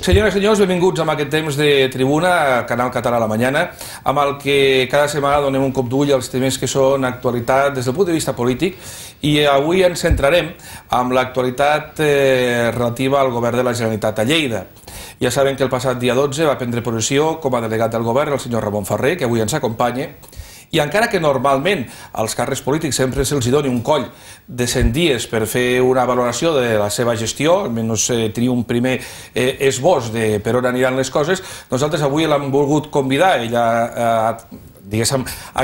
Senyores i senyors, benvinguts a aquest temps de tribuna, Canal Català a la Mañana, amb el que cada setmana donem un cop d'ull als temes que són actualitat des del punt de vista polític, i avui ens centrarem amb l'actualitat relativa al govern de la Generalitat a Lleida. Ja saben que el passat dia 12 va prendre possessió com a delegat del govern el senyor Ramon Ferrer, que avui ens acompanya, i encara que normalment als càrrecs polítics sempre se'ls doni un coll de 100 dies per fer una valoració de la seva gestió, almenys tenir un primer esbós de per on aniran les coses, nosaltres avui l'hem volgut convidar, ella ha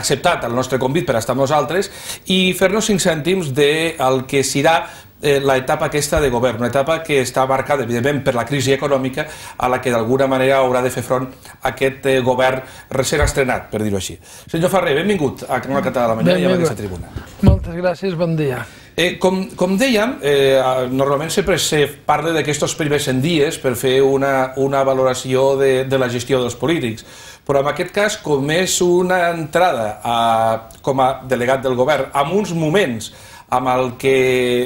acceptat el nostre convit per estar amb nosaltres i fer-nos 5 cèntims del que serà l'etapa aquesta de govern, una etapa que està marcada, evidentment, per la crisi econòmica a la que d'alguna manera haurà de fer front aquest govern recent estrenat, per dir-ho així. Senyor Ferrer, benvingut a Canal Català a la Mañana i a aquesta tribuna. Moltes gràcies, bon dia. Com dèiem, normalment sempre se parla d'aquests primers 100 dies per fer una valoració de la gestió dels polítics, però en aquest cas, com és una entrada com a delegat del govern, en uns moments amb el que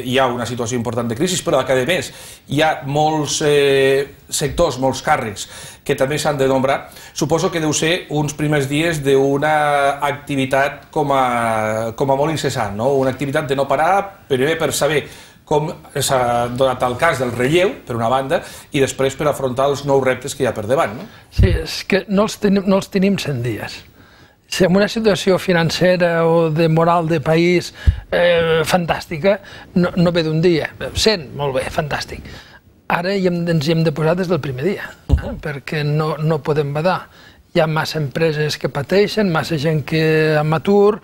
hi ha una situació important de crisi, però que a més hi ha molts sectors, molts càrrecs que també s'han de nombrar, suposo que deu ser uns primers dies d'una activitat com a molt incessant, una activitat de no parar, primer per saber com s'ha donat el cas del relleu, per una banda, i després per afrontar els nous reptes que hi ha per davant. Sí, és que no els tenim 100 dies. Si en una situació financera o de moral de país fantàstica, no ve d'un dia. 100, molt bé, fantàstic. Ara ens hi hem de posar des del primer dia, perquè no podem badar. Hi ha massa empreses que pateixen, massa gent que amb atur,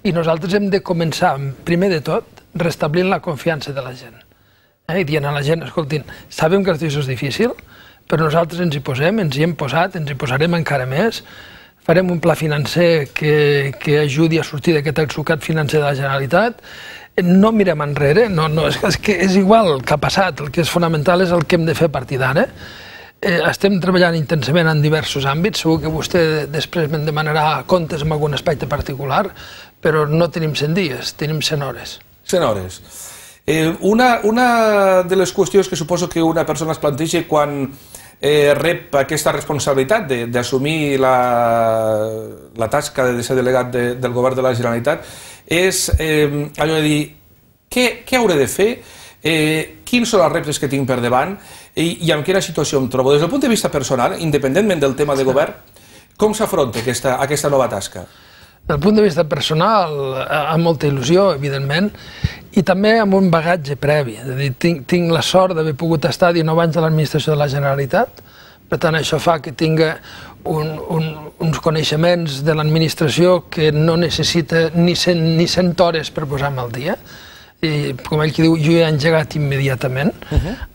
i nosaltres hem de començar, primer de tot, restablint la confiança de la gent. I dient a la gent, escoltin, sabem que la situació és difícil, però nosaltres ens hi posem, ens hi hem posat, ens hi posarem encara més. Farem un pla financer que ajudi a sortir d'aquest atzucac financer de la Generalitat. No mirem enrere, és que és igual el que ha passat, el que és fonamental és el que hem de fer a partir d'ara. Estem treballant intensament en diversos àmbits, segur que vostè després me'n demanarà comptes en algun aspecte particular, però no tenim 100 dies, tenim 100 hores. 100 hores. Una de les qüestions que suposo que una persona es planteja quan rep aquesta responsabilitat d'assumir la tasca de ser delegat del govern de la Generalitat és allò de dir què hauré de fer, quins són els reptes que tinc per davant i en quina situació em trobo. Des del punt de vista personal, independentment del tema de govern, com s'afronta aquesta nova tasca? Des del punt de vista personal, amb molta il·lusió, evidentment, i també amb un bagatge previ. És a dir, tinc la sort d'haver pogut estar 19 anys a l'administració de la Generalitat, per tant això fa que tingui uns coneixements de l'administració que no necessita ni 100 hores per posar-me al dia. I, com ell que diu, jo he engegat immediatament.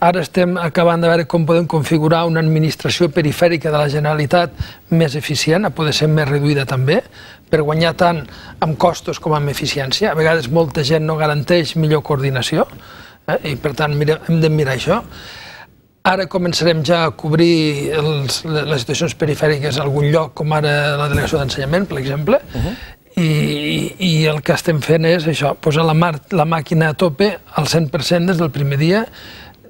Ara estem acabant de veure com podem configurar una administració perifèrica de la Generalitat més eficient, a poder ser més reduïda també, per guanyar tant amb costos com amb eficiència. A vegades molta gent no garanteix millor coordinació i per tant hem de mirar això. Ara començarem ja a cobrir les situacions perifèriques a algun lloc, com ara la delegació d'ensenyament, per exemple, i el que estem fent és això, posar la màquina a tope al 100% des del primer dia,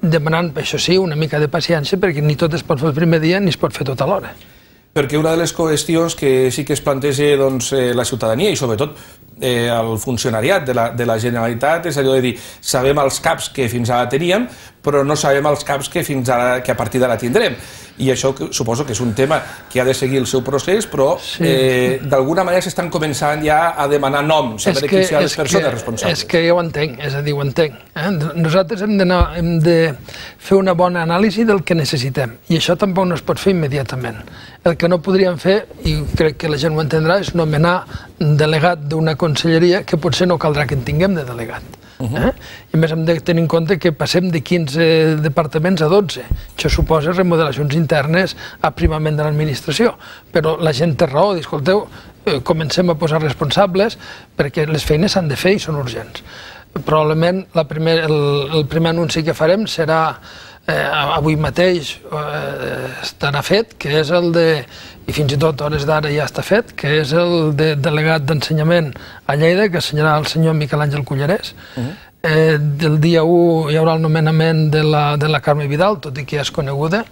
demanant, això sí, una mica de paciència, perquè ni tot es pot fer el primer dia ni es pot fer tot alhora. Perquè una de les qüestions que sí que es planteja la ciutadania i sobretot el funcionariat de la Generalitat és allò de dir, sabem els caps que fins ara teníem, però no sabem els caps que a partir d'ara tindrem. I això suposo que és un tema que ha de seguir el seu procés, però d'alguna manera s'estan començant ja a demanar noms, saber qui són les persones responsables. És que jo ho entenc, és a dir, ho entenc. Nosaltres hem de fer una bona anàlisi del que necessitem, i això tampoc no es pot fer immediatament. El que no podríem fer, i crec que la gent ho entendrà, és nomenar delegat d'una conselleria que potser no caldrà que en tinguem de delegat. I a més hem de tenir en compte que passem de 15 departaments a 12. Això suposa remodelacions internes, aprimament de l'administració. Però la gent té raó, escolteu, comencem a posar responsables perquè les feines s'han de fer i són urgents. Probablement el primer anunci que farem serà avui mateix estarà fet, que és el de, i fins i tot a hores d'ara ja està fet, que és el de delegat d'ensenyament a Lleida, que assenyarà el senyor Miquel Àngel Cullerés. Del dia 1 hi haurà el nomenament de la Carme Vidal, tot i que ja és coneguda.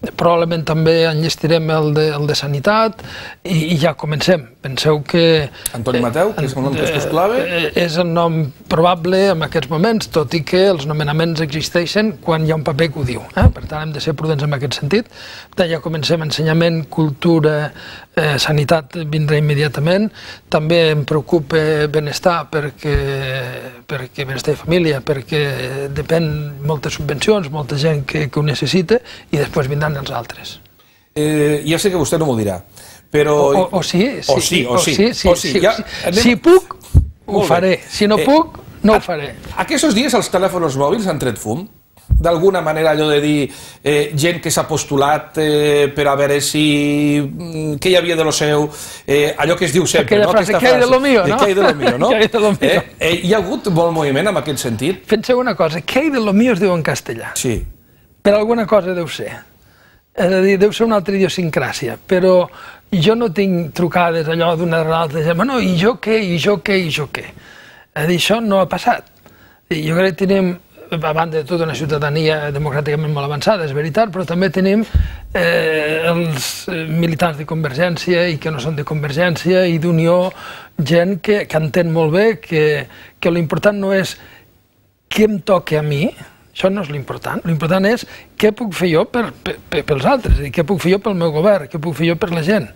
Probablement també enllestirem el de Sanitat i ja comencem. Penseu que... Antoni Mateu, que és el nom que és clave? És el nom probable en aquests moments, tot i que els nomenaments existeixen quan hi ha un paper que ho diu. Per tant, hem de ser prudents en aquest sentit. Ja comencem ensenyament, cultura, sanitat vindrà immediatament. També em preocupa benestar perquè benestar i família, perquè depèn moltes subvencions, molta gent que ho necessita i després vindran els altres. Ja sé que vostè no m'ho dirà, però... O sí. Si puc, ho faré. Si no puc, no ho faré. Aquests dies els telèfons mòbils han tret fum? D'alguna manera allò de dir gent que s'ha postulat per a veure si... què hi havia de lo seu, allò que es diu sempre, no? Aquella frase, què hi de lo mío, no? Què hi de lo mío, no? Hi ha hagut molt moviment en aquest sentit? Penseu una cosa, què hi de lo mío es diu en castellà. Sí. Per alguna cosa deu ser. És a dir, deu ser una altra idiosincràsia, però jo no tinc trucades allò d'una a l'altra, no, i jo què, i jo què, i jo què. És a dir, això no ha passat. Jo crec que tenim, a banda de tota una ciutadania democràticament molt avançada, és veritat, però també tenim els militants de Convergència i que no són de Convergència i d'Unió, gent que entén molt bé que l'important no és què em toca a mi, això no és l'important. L'important és què puc fer jo pels altres, què puc fer jo pel meu govern, què puc fer jo per la gent.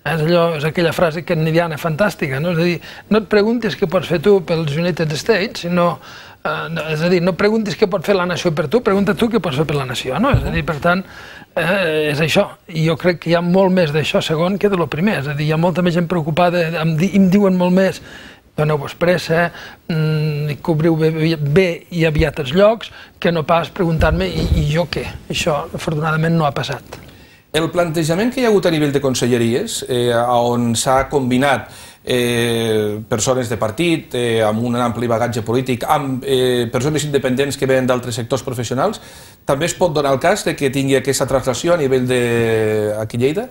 És aquella frase kennediana fantàstica, no? És a dir, no et preguntis què pots fer tu pels United States, sinó... És a dir, no preguntis què pot fer la nació per tu, pregunta tu què pots fer per la nació, no? És a dir, per tant, és això. I jo crec que hi ha molt més d'això segon que de lo primer. És a dir, hi ha molta més gent preocupada, em diuen molt més doneu-vos pressa, cobriu bé i aviat els llocs, que no pas preguntar-me i jo què. Això, afortunadament, no ha passat. El plantejament que hi ha hagut a nivell de conselleries, on s'ha combinat persones de partit, amb un ampli bagatge polític, amb persones independents que venen d'altres sectors professionals, també es pot donar el cas que tingui aquesta translació a nivell d'aquí a Lleida?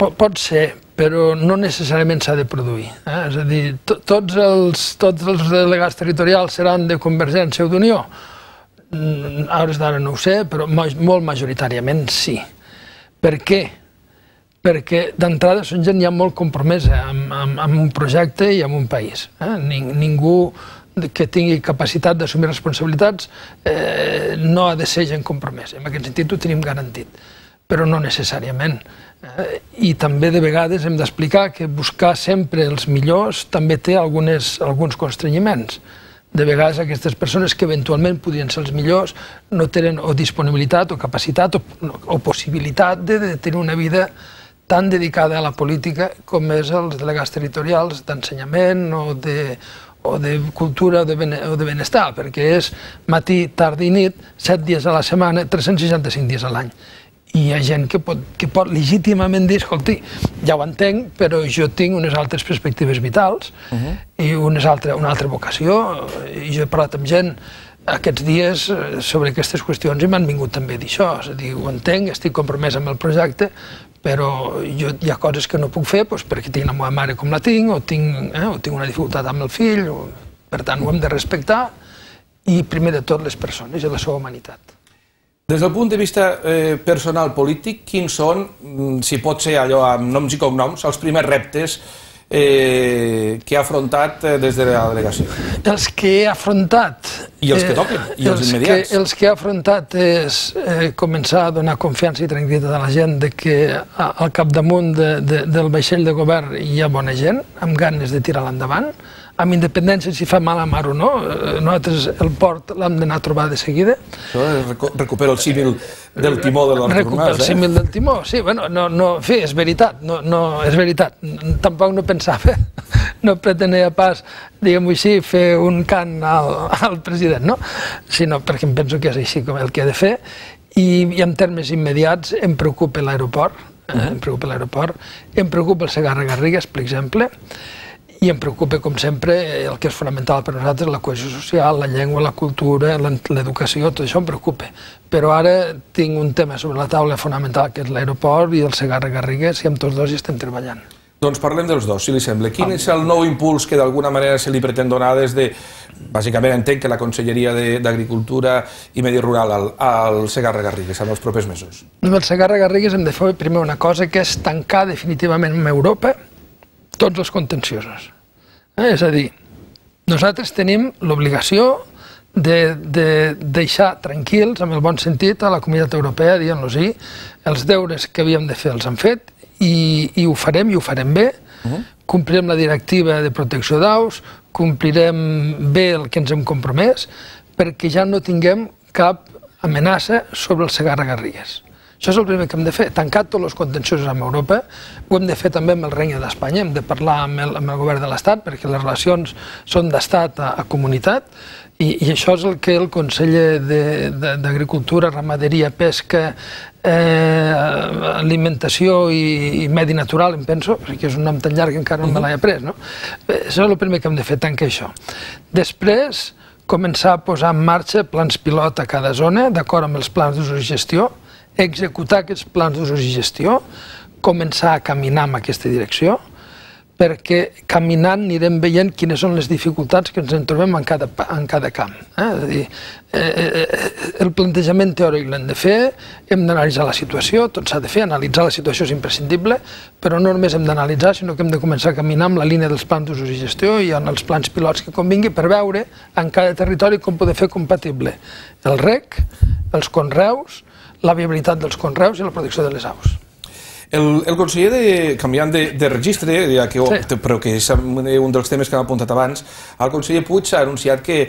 Pot ser, però no necessàriament s'ha de produir. És a dir, tots els delegats territorials seran de Convergència o d'Unió? A hores d'ara no ho sé, però molt majoritàriament sí. Per què? Perquè d'entrada són gent ja molt compromesa amb un projecte i amb un país. Ningú que tingui capacitat d'assumir responsabilitats no ha de ser gent compromesa. En aquest sentit ho tenim garantit, però no necessàriament. I també de vegades hem d'explicar que buscar sempre els millors també té alguns constrenyiments. De vegades aquestes persones que eventualment podrien ser els millors no tenen o disponibilitat o capacitat o possibilitat de tenir una vida tan dedicada a la política com és els delegats territorials d'ensenyament o de cultura o de benestar, perquè és matí, tarda i nit, 7 dies a la setmana, 365 dies a l'any. I hi ha gent que pot legítimament dir, escolti, ja ho entenc, però jo tinc unes altres perspectives vitals i una altra vocació. I jo he parlat amb gent aquests dies sobre aquestes qüestions i m'han vingut també a dir això. És a dir, ho entenc, estic compromès amb el projecte, però hi ha coses que no puc fer perquè tinc la meva mare com la tinc o tinc una dificultat amb el fill. Per tant, ho hem de respectar i, primer de tot, les persones i la seva humanitat. Des del punt de vista personal polític, quins són, si pot ser allò amb noms i cognoms, els primers reptes que ha afrontat des de la delegació? Els que he afrontat... I els que toquen, i els immediats. Els que he afrontat és començar a donar confiança i tranquil·litat a la gent que al capdamunt del vaixell de govern hi ha bona gent, amb ganes de tirar l'endavant, amb independència si fa mal a mar o no. Nosaltres el port l'hem d'anar a trobar de seguida. Això recupera el símil del timó de l'Artur Mas, Recupera el símil del timó, sí, bueno, en fi, és veritat, és veritat. Tampoc no pensava, no pretenia pas, diguem-ho així, fer un cant al president, no? Sinó perquè em penso que és així com el que ha de fer. I en termes immediats em preocupa l'aeroport, em preocupa el Segarra-Garrigues, per exemple, i em preocupa, com sempre, el que és fonamental per a nosaltres, la cohesió social, la llengua, la cultura, l'educació, tot això em preocupa. Però ara tinc un tema sobre la taula fonamental, que és l'aeroport i el Segarra-Garrigues, i amb tots dos hi estem treballant. Doncs parlem dels dos, si li sembla. Quin és el nou impuls que d'alguna manera se li pretén donar des de, bàsicament entenc que la Conselleria d'Agricultura i Medi Rural al Segarra-Garrigues en els propers mesos? Amb el Segarra-Garrigues hem de fer primer una cosa, que és tancar definitivament amb Europa tots els contenciosos. És a dir, nosaltres tenim l'obligació de deixar tranquils, amb el bon sentit, a la Comunitat Europea, dient-los els deures que havíem de fer els han fet i ho farem bé. Complirem la directiva de protecció d'aus, complirem bé el que ens hem compromès, perquè ja no tinguem cap amenaça sobre el Segarra-Garrigues. Això és el primer que hem de fer, tancar tots els contenciosos amb Europa. Ho hem de fer també amb el Regne d'Espanya, hem de parlar amb el govern de l'Estat, perquè les relacions són d'Estat a comunitat, i això és el que el conseller d'Agricultura, Ramaderia, Pesca, Alimentació i Medi Natural, em penso, perquè és un nom tan llarg que encara no me l'he après, no? Això és el primer que hem de fer, tancar això. Després, començar a posar en marxa plans pilot a cada zona, d'acord amb els plans d'ús i gestió, executar aquests plans d'ús i gestió, començar a caminar en aquesta direcció, perquè caminant anirem veient quines són les dificultats que ens en trobem en cada camp. És a dir, el plantejament teòric l'hem de fer, hem d'analitzar la situació, tot s'ha de fer, analitzar la situació és imprescindible, però no només hem d'analitzar, sinó que hem de començar a caminar amb la línia dels plans d'ús i gestió i en els plans pilots que convingui per veure en cada territori com poder fer compatible el reg, els conreus, la viabilitat dels conreus i la protecció de les aus. El conseller, canviant de registre, però que és un dels temes que hem apuntat abans, el conseller Puig ha anunciat que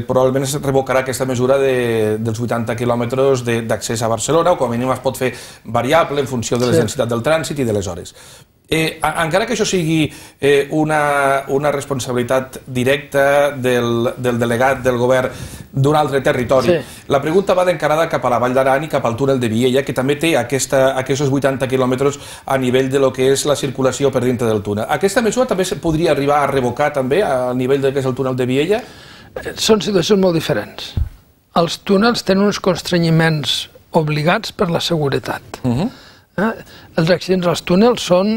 probablement es revocarà aquesta mesura dels 80 quilòmetres d'accés a Barcelona, o com a mínim es pot fer variable en funció de la densitat del trànsit i de les hores. Encara que això sigui una responsabilitat directa del delegat del govern d'un altre territori, la pregunta va d'encarada cap a la Vall d'Aran i cap al túnel de Viella, que també té aquests 80 quilòmetres a nivell de lo que és la circulació per dintre del túnel. Aquesta mesura també se podria arribar a revocar també a nivell del que és el túnel de Viella? Són situacions molt diferents. Els túnels tenen uns constrenyiments obligats per la seguretat. Els accidents als túnels són,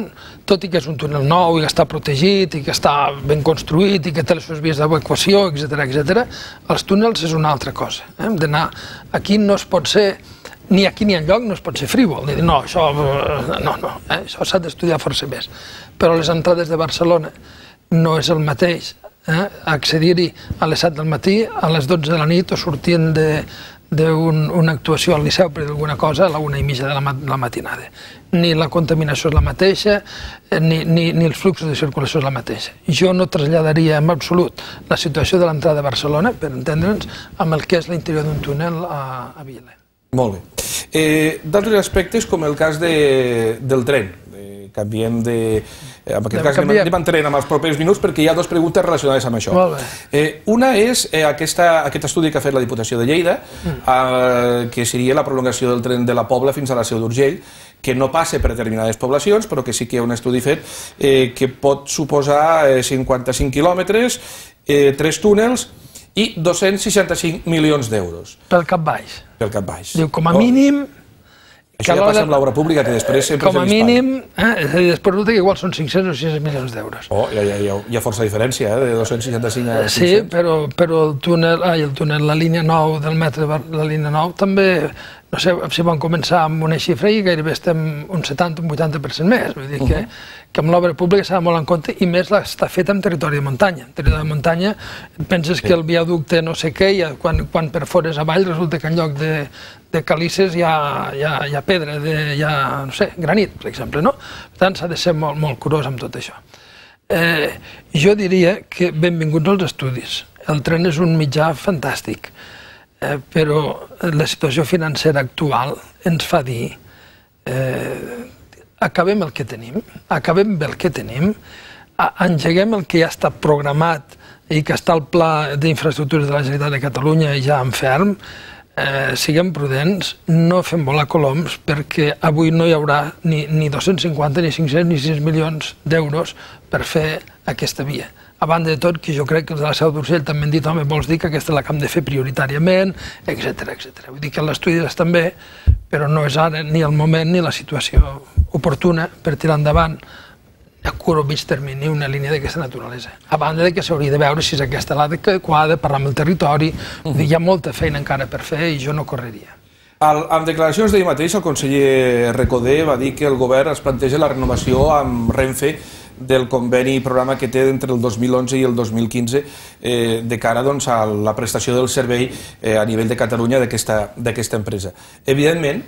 tot i que és un túnel nou i que està protegit i que està ben construït i que té les seves vies d'evacuació, etc., els túnels és una altra cosa. Hem d'anar, aquí no es pot ser, ni aquí ni enlloc no es pot ser frívol, ni dir no, això s'ha d'estudiar força més. Però les entrades de Barcelona no és el mateix accedir-hi a les 7 del matí, a les 12 de la nit o sortint d'una actuació al Liceu per alguna cosa a la 1:30 de la matinada. Ni la contaminació és la mateixa, ni els fluxos de circulació és la mateixa. Jo no traslladaria en absolut la situació de l'entrada de Barcelona, per entendre'ns, amb el que és l'interior d'un túnel a Viella. Molt bé. D'altres aspectes, com el cas del tren. Canviem de... En aquest cas anem entenent en els propers minuts perquè hi ha dues preguntes relacionades amb això. Una és aquest estudi que ha fet la Diputació de Lleida, que seria la prolongació del tren de la Pobla fins a la Seu d'Urgell, que no passa per determinades poblacions, però que sí que hi ha un estudi fet que pot suposar 55 quilòmetres, 3 túnels i 265 milions d'euros. Pel cap baix. Pel cap baix. Diu, com a mínim... Això ja passa amb l'obra pública, que després sempre com a mínim, després resulta que igual són 500 o 600 milions d'euros. Hi ha força diferència, de 265 a 500. Sí, però el túnel, la línia 9 del metro, la línia 9, també, no sé si van començar amb una xifra i gairebé estem un 70 o un 80% més. Vull dir que amb l'obra pública s'ha de molt en compte, i més està feta en territori de muntanya. En territori de muntanya penses que el viaducte no sé què, i quan perfores avall resulta que en lloc de calices hi ha pedra, hi ha, no sé, granit, per exemple, no? Per tant, s'ha de ser molt curós amb tot això. Jo diria que benvinguts als estudis. El tren és un mitjà fantàstic, però la situació financera actual ens fa dir acabem el que tenim, acabem bé el que tenim, engeguem el que ja està programat i que està al Pla d'Infraestructures de la Generalitat de Catalunya ja en ferm, siguem prudents, no fem volar coloms, perquè avui no hi haurà ni 250, ni 500, ni 600 milions d'euros per fer aquesta via. A banda de tot, que jo crec que els de la Seu d'Urgell també han dit, home, vols dir que aquesta la que hem de fer prioritàriament, etc. Vull dir que l'estudi estan bé, però no és ara ni el moment ni la situació oportuna per tirar endavant a curt o mig termini una línia d'aquesta naturalesa. A banda de que s'hauria de veure si és aquesta l'adequada, parlar amb el territori, hi ha molta feina encara per fer i jo no correria. Amb declaracions d'ahir mateix, el conseller Recoder va dir que el govern es planteja la renovació amb Renfe del conveni i programa que té entre el 2011 i el 2015 de cara a la prestació del servei a nivell de Catalunya d'aquesta empresa. Evidentment,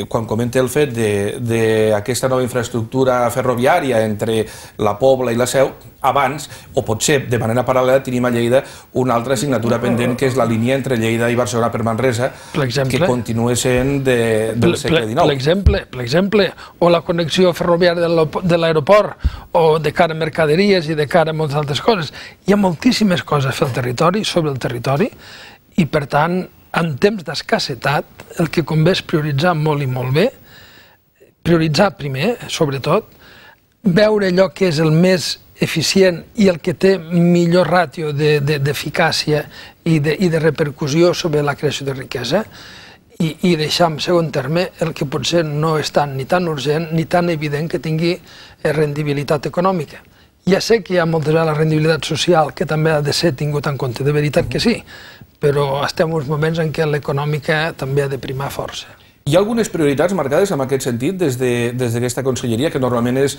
quan comenta el fet d'aquesta nova infraestructura ferroviària entre la Pobla i la Seu, abans, o potser de manera paral·lela, tenim a Lleida una altra assignatura pendent, que és la línia entre Lleida i Barcelona per Manresa, que continua sent del segle XIX. Per exemple, o la connexió ferroviària de l'aeroport, o de cara a mercaderies i de cara a moltes altres coses. Hi ha moltíssimes coses a fer al territori, sobre el territori, i per tant, en temps d'escassetat, el que convé és prioritzar molt i molt bé, prioritzar primer, sobretot, veure allò que és el més eficient i el que té millor ràtio d'eficàcia i de repercussió sobre la creació de riquesa i deixar en segon terme el que potser no és ni tan urgent ni tan evident que tingui rendibilitat econòmica. Ja sé que hi ha moltes vegades la rendibilitat social que també ha de ser tingut en compte, de veritat que sí, però estem en uns moments en què l'econòmica també ha de primar força. Hi ha algunes prioritats marcades en aquest sentit des d'aquesta conselleria, que normalment és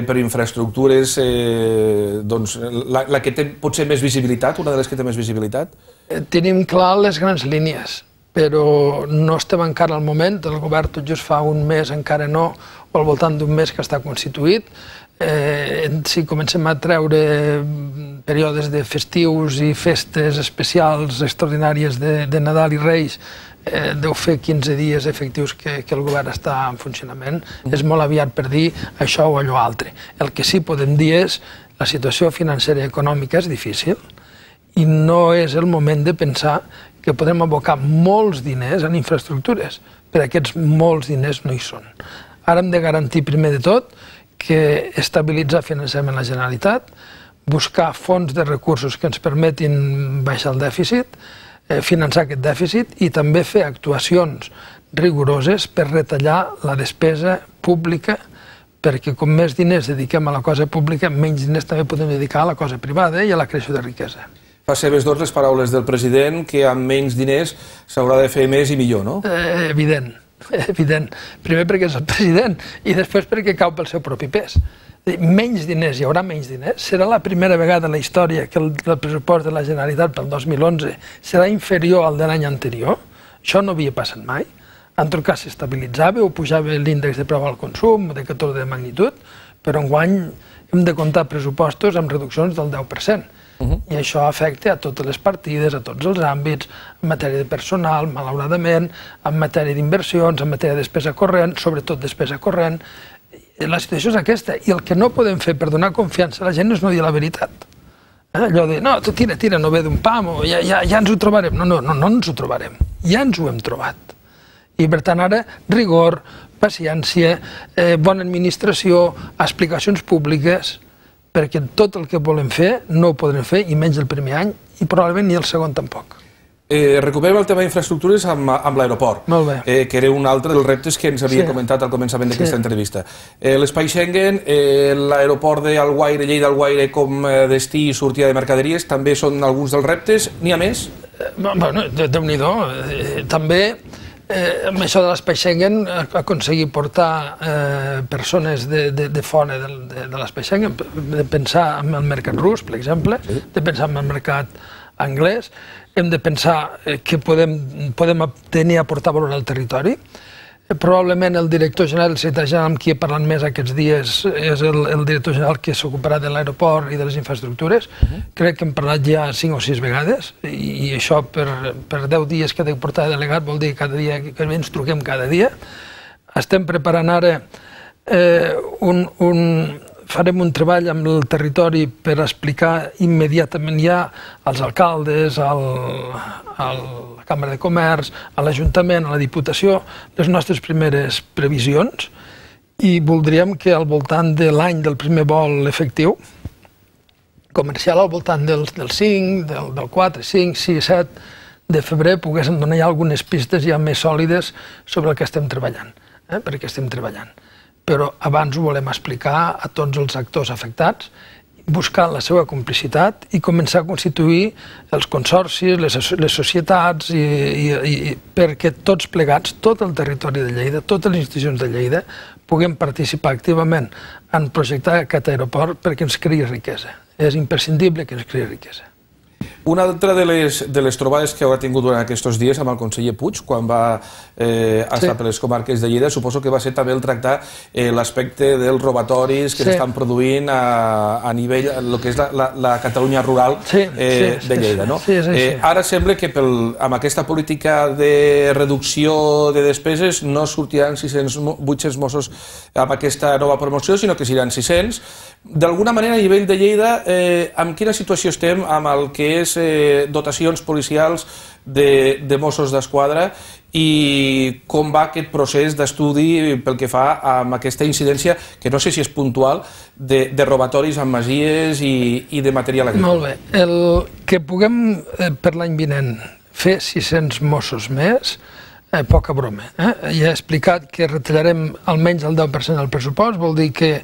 per infraestructures la que té potser més visibilitat, una de les que té més visibilitat? Tenim clar les grans línies, però no estem encara al moment, el govern tot just fa un mes, encara no, o al voltant d'un mes que està constituït. Si comencem a treure períodes de festius i festes especials extraordinàries de Nadal i Reis, deu fer 15 dies efectius que el govern està en funcionament. És molt aviat per dir això o allò altre. El que sí podem dir és la situació financera i econòmica és difícil i no és el moment de pensar que podem abocar molts diners en infraestructures, però aquests molts diners no hi són. Ara hem de garantir primer de tot que estabilitzar finançament la Generalitat, buscar fons de recursos que ens permetin baixar el dèficit, finançar aquest dèficit i també fer actuacions rigoroses per retallar la despesa pública, perquè com més diners dediquem a la cosa pública, menys diners també podem dedicar a la cosa privada i a la creació de riquesa. Fa seves doncs les paraules del president que amb menys diners s'haurà de fer més i millor, no? Evident. Primer perquè és el president i després perquè cau pel seu propi pes. Menys diners, hi haurà menys diners. Serà la primera vegada en la història que el pressupost de la Generalitat pel 2011 serà inferior al de l'any anterior. Això no havia passat mai. En tot cas s'estabilitzava o pujava l'índex de preu al consum de 14 de magnitud, però enguany hem de comptar pressupostos amb reduccions del 10%. I això afecta a totes les partides, a tots els àmbits, en matèria de personal, malauradament, en matèria d'inversions, en matèria de despesa corrent, sobretot despesa corrent. La situació és aquesta, i el que no podem fer per donar confiança a la gent és no dir la veritat. Allò de, no, tira, no ve d'un pam, o ja ens ho trobarem. No ens ho trobarem, ja ens ho hem trobat. I per tant ara, rigor, paciència, bona administració, explicacions públiques, perquè tot el que volem fer no ho podrem fer, i menys el primer any, i probablement ni el segon tampoc. Recuperem el tema d'infraestructures amb l'aeroport, que era un altre dels reptes que ens havia comentat al començament d'aquesta entrevista. L'espai Schengen, l'aeroport d'Alguaire, Lleida-Alguaire com destí i sortida de mercaderies, també són alguns dels reptes. N'hi ha més? Bueno, Déu-n'hi-do. També amb això de l'espai Schengen aconseguir portar persones de fora de l'espai Schengen, de pensar en el mercat rus, per exemple, de pensar en el mercat anglès, hem de pensar que podem tenir a aportar valor al territori. Probablement el director general, el secretari general amb qui he parlat més aquests dies és el director general que s'ocuparà de l'aeroport i de les infraestructures. Crec que hem parlat ja 5 o 6 vegades i això per 10 dies que he de portar delegat vol dir cada dia que ens truquem cada dia. Estem preparant ara farem un treball amb el territori per explicar immediatament ja als alcaldes, a la Cambra de Comerç, a l'Ajuntament, a la Diputació, les nostres primeres previsions i voldríem que al voltant de l'any del primer vol efectiu, comercial al voltant del 5, del 4, 5, 6, 7 de febrer poguéssim donar ja algunes pistes ja més sòlides sobre el que estem treballant, perquè estem treballant. però abans ho volem explicar a tots els actors afectats, buscar la seva complicitat i començar a constituir els consorcis, les societats, perquè tots plegats, tot el territori de Lleida, totes les institucions de Lleida, puguem participar activament en projectar aquest aeroport perquè ens creï riquesa. És imprescindible que ens creï riquesa. Una altra de les trobades que haurà tingut durant aquests dies amb el conseller Puig, quan va estar per les comarques de Lleida, suposo que va ser també el tractar l'aspecte dels robatoris que s'estan produint a nivell, el que és la Catalunya rural de Lleida. Ara sembla que amb aquesta política de reducció de despeses no sortiran 800 Mossos amb aquesta nova promoció, sinó que seran 600. D'alguna manera, a nivell de Lleida, en quina situació estem amb el que és dotacions policials de Mossos d'Esquadra i com va aquest procés d'estudi pel que fa a aquesta incidència, que no sé si és puntual, de robatoris amb masies i de material agrícola. Molt bé. El que puguem per l'any vinent fer 600 Mossos més, poca broma. Ja he explicat que retallarem almenys el 10% del pressupost, vol dir que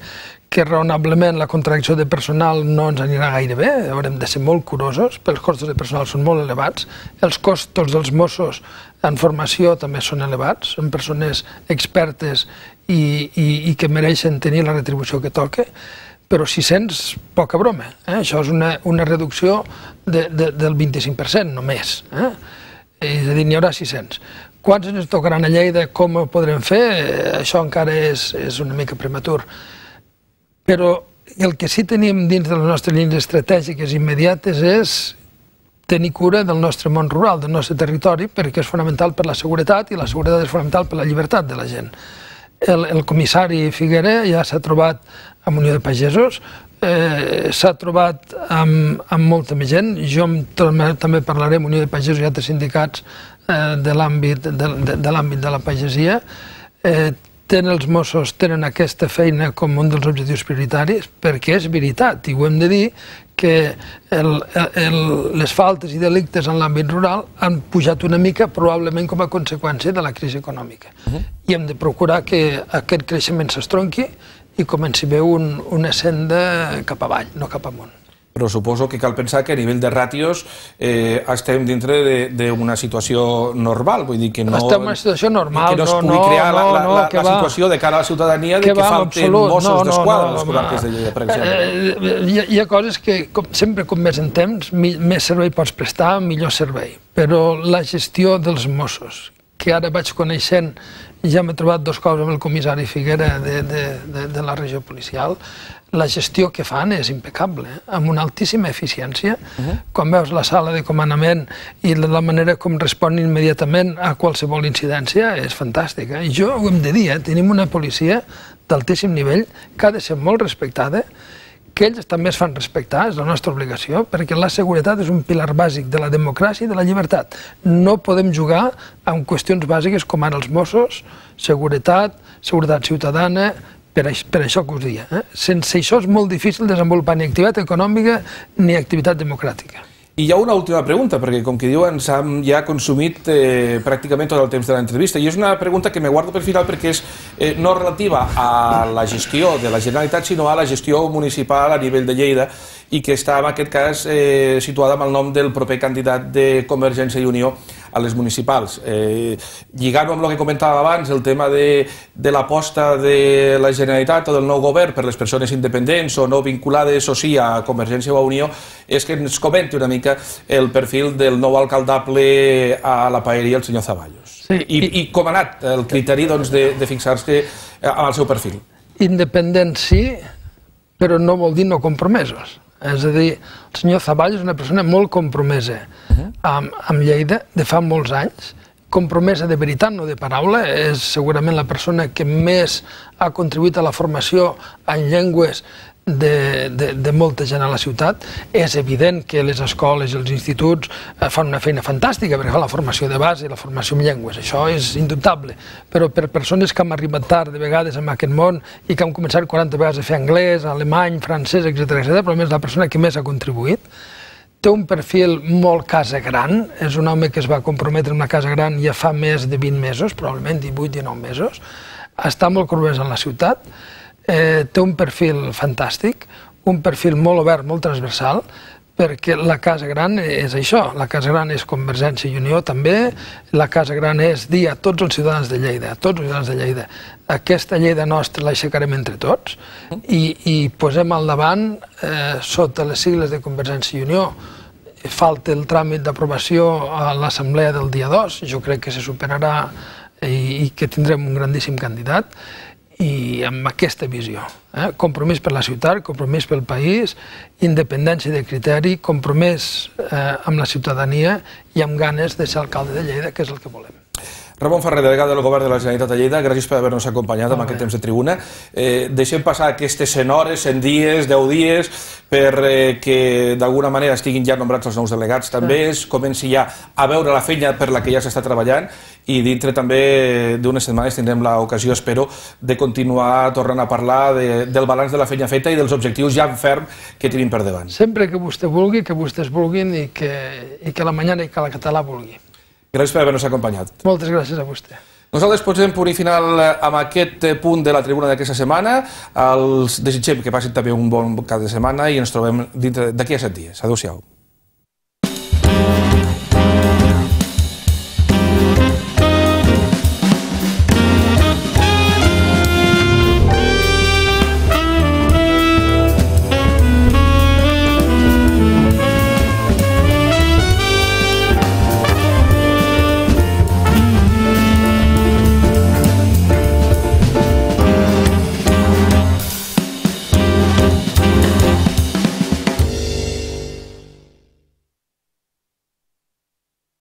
raonablement la contracció de personal no ens anirà gaire bé, haurem de ser molt curosos, perquè els costos de personal són molt elevats, els costos dels Mossos en formació també són elevats, són persones expertes i que mereixen tenir la retribució que toca, però 600, poca broma. Això és una reducció del 25%, només. És a dir, n'hi haurà 600. Quants ens tocaran a Lleida, com ho podrem fer? Això encara és una mica prematur. Però el que sí tenim dins de les nostres línies estratègiques immediates és tenir cura del nostre món rural, del nostre territori, perquè és fonamental per la seguretat i la seguretat és fonamental per la llibertat de la gent. El comissari Figuera ja s'ha trobat amb Unió de Pagesos, s'ha trobat amb molta més gent, jo també parlaré amb Unió de Pagesos i altres sindicats de l'àmbit de la pagesia. Els Mossos tenen aquesta feina com un dels objectius prioritaris, perquè és veritat, i ho hem de dir, que les faltes i delictes en l'àmbit rural han pujat una mica, probablement com a conseqüència de la crisi econòmica. I hem de procurar que aquest creixement s'estronqui i comenci a veure una senda cap avall, no cap amunt. Però suposo que cal pensar que a nivell de ràtios estem dintre d'una situació normal, vull dir que no... Estem en una situació normal, que no es pugui crear la situació de cara a la ciutadania de que falten Mossos d'Esquadra a les comarques de Lleida, per exemple. Hi ha coses que, sempre com més en temps, més servei pots prestar, millor servei. Però la gestió dels Mossos, que ara vaig coneixent, ja m'he trobat 2 cops amb el comissari Figuera de la regió policial, la gestió que fan és impecable, amb una altíssima eficiència. Quan veus la sala de comandament i la manera com responen immediatament a qualsevol incidència és fantàstica. I jo ho hem de dir, tenim una policia d'altíssim nivell que ha de ser molt respectada, que ells també es fan respectar, és la nostra obligació, perquè la seguretat és un pilar bàsic de la democràcia i de la llibertat. No podem jugar amb qüestions bàsiques com ara els Mossos, seguretat ciutadana, per això que us dia. Sense això és molt difícil desenvolupar ni activitat econòmica ni activitat democràtica. I hi ha una última pregunta, perquè com que diu ens hem ja consumit pràcticament tot el temps de l'entrevista, i és una pregunta que me guardo per final perquè és no relativa a la gestió de la Generalitat, sinó a la gestió municipal a nivell de Lleida, i que està en aquest cas situada amb el nom del proper candidat de Convergència i Unió a les municipals. Lligant-ho amb el que comentava abans, el tema de l'aposta de la Generalitat o del nou govern per les persones independents o no vinculades o sí a Convergència o a Unió, és que ens comenti una mica el perfil del nou alcaldable a la paeria, el senyor Zaballos. I com ha anat el criteri de fixar-se amb el seu perfil? Independent sí, però no vol dir no compromesos. És a dir, el senyor Zaballos és una persona molt compromesa amb Lleida de fa molts anys, compromesa de veritat, no de paraula, és segurament la persona que més ha contribuït a la formació en llengües de molta gent a la ciutat. És evident que les escoles i els instituts fan una feina fantàstica perquè fan la formació de base i la formació en llengües, això és indubtable, però per persones que han arribat tard de vegades en aquest món i que han començat 40 vegades a fer anglès, alemany, francès, etc., però més la persona que més ha contribuït, té un perfil molt casa gran, és un home que es va comprometre en una casa gran ja fa més de 20 mesos, probablement 18-19 mesos, està molt compromès en la ciutat, té un perfil fantàstic, un perfil molt obert, molt transversal, perquè la Casa Gran és això, la Casa Gran és Convergència i Unió també, la Casa Gran és dir a tots els ciutadans de Lleida, a tots els ciutadans de Lleida, aquesta Lleida nostra l'aixecarem entre tots i posem al davant, sota les sigles de Convergència i Unió, falta el tràmit d'aprovació a l'assemblea del dia 2, jo crec que se superarà i que tindrem un grandíssim candidat, i amb aquesta visió, compromís per la ciutat, compromís pel país, independència de criteri, compromís amb la ciutadania i amb ganes de ser alcalde de Lleida, que és el que volem. Ramon Ferrer, delegat del Govern de la Generalitat de Lleida, gràcies per haver-nos acompanyat en aquest temps de tribuna. Deixem passar aquestes 100 hores, 100 dies, 10 dies, perquè d'alguna manera estiguin ja nombrats els nous delegats. També es comenci ja a veure la feina per la que ja s'està treballant i dintre també d'unes setmanes tindrem l'ocasió, espero, de continuar tornant a parlar del balanç de la feina feta i dels objectius ja en ferm que tenim per davant. Sempre que vostè vulgui, que vostès vulguin i que la Mañana i que la Català vulgui. Gràcies per haver-nos acompanyat. Moltes gràcies a vostè. Nosaltres posem punt i final amb aquest punt de la tribuna d'aquesta setmana. Els desitgem que passin també un bon cap de setmana i ens trobem d'aquí a 7 dies. Adéu-siau.